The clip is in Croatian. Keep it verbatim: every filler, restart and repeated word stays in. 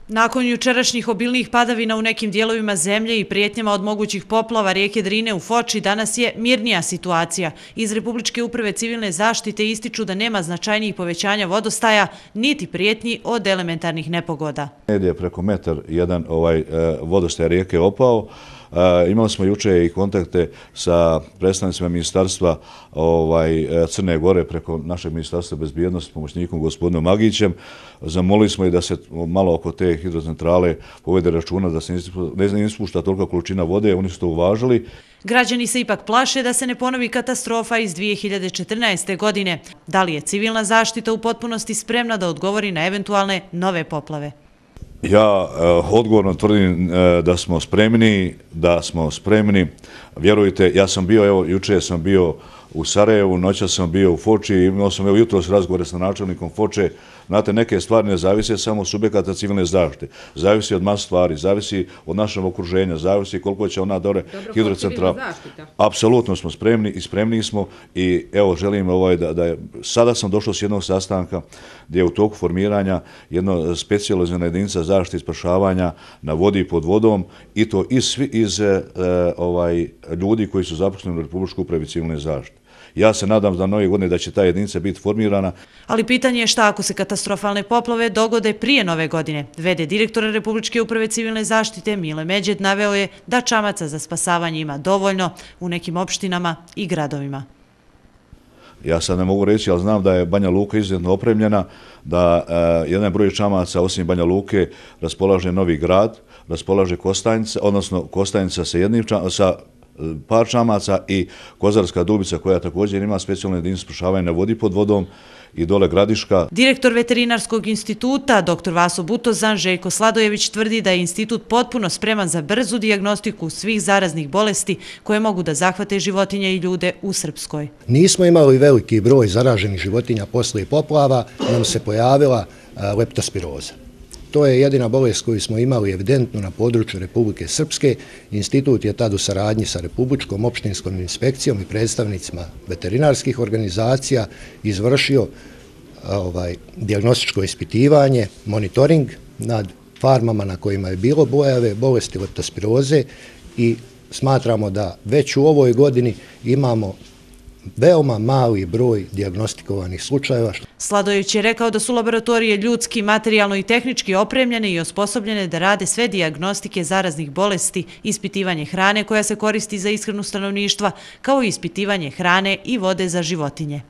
Nakon jučerašnjih obilnih padavina u nekim dijelovima zemlje i prijetnjama od mogućih poplava rijeke Drine u Foči, danas je mirnija situacija. Iz Republičke uprave civilne zaštite ističu da nema značajnijih povećanja vodostaja, niti prijetnji od elementarnih nepogoda. Je preko metar jedan ovaj, vodostaj rijeke opao. E, imali smo juče i kontakte sa predstavnicima ministarstva ovaj, Crne Gore preko našeg ministarstva bezbjednosti, pomoćnikom gospodinom Magićem. Zamolili smo i da se malo oko te hidrocentrale povede računa da se ne ispušta tolika količina vode, oni su to uvažili. Građani se ipak plaše da se ne ponovi katastrofa iz dvije hiljade četrnaeste. godine. Da li je civilna zaštita u potpunosti spremna da odgovori na eventualne nove poplave? Ja odgovorno tvrdim da smo spremni, da smo spremni. Vjerujte, ja sam bio, evo, juče sam bio u Sarajevu, noća sam bio u Foči, imao sam evo jutros razgovore sa načelnikom Foče. Znate, neke stvari ne zavise samo od subjekata civilne zaštite. Zavisi od mas stvari, zavisi od našeg okruženja, zavisi koliko će ona dole hidrocentrala. Apsolutno smo spremni i spremni smo i evo želim ovaj da, da je, sada sam došao s jednog sastanka gdje je u toku formiranja jedno specijalizirana jedinica zaštite i spašavanja na vodi i pod vodom i to iz, iz e, ovaj, ljudi koji su zaposleni u Republičkoj upravi civilne zaštite. Ja se nadam da nove godine da će ta jedinica biti formirana. Ali pitanje je šta ako se katastrofalne poplave dogode prije nove godine. V D direktora Republičke uprave civilne zaštite Mile Međed naveo je da čamaca za spasavanje ima dovoljno u nekim opštinama i gradovima. Ja sad ne mogu reći, ali znam da je Banja Luka izuzetno opremljena, da uh, jedan broj čamaca osim Banja Luke raspolaže Novi Grad, raspolaže Kostajnica, odnosno Kostajnica sa jednim čam, sa par čamaca i Kozarska Dubica koja također ima specijalnu jedinicu spašavanja na vodi pod vodom i dole Gradiška. Direktor Veterinarskog instituta, doktor Vaso Butozan, Željko Sladojević tvrdi da je institut potpuno spreman za brzu dijagnostiku svih zaraznih bolesti koje mogu da zahvate životinje i ljude u Srpskoj. Nismo imali veliki broj zaraženih životinja poslije poplava, nam se pojavila leptospiroza. To je jedina bolest koju smo imali evidentno na području Republike Srpske. Institut je tad u saradnji sa Republičkom opštinskom inspekcijom i predstavnicima veterinarskih organizacija izvršio ovaj, dijagnostičko ispitivanje, monitoring nad farmama na kojima je bilo pojave bolesti leptospiroze i smatramo da već u ovoj godini imamo veoma mali broj dijagnostikovanih slučajeva. Sladojević je rekao da su laboratorije ljudski, materijalno i tehnički opremljene i osposobljene da rade sve dijagnostike zaraznih bolesti, ispitivanje hrane koja se koristi za ishranu stanovništva, kao i ispitivanje hrane i vode za životinje.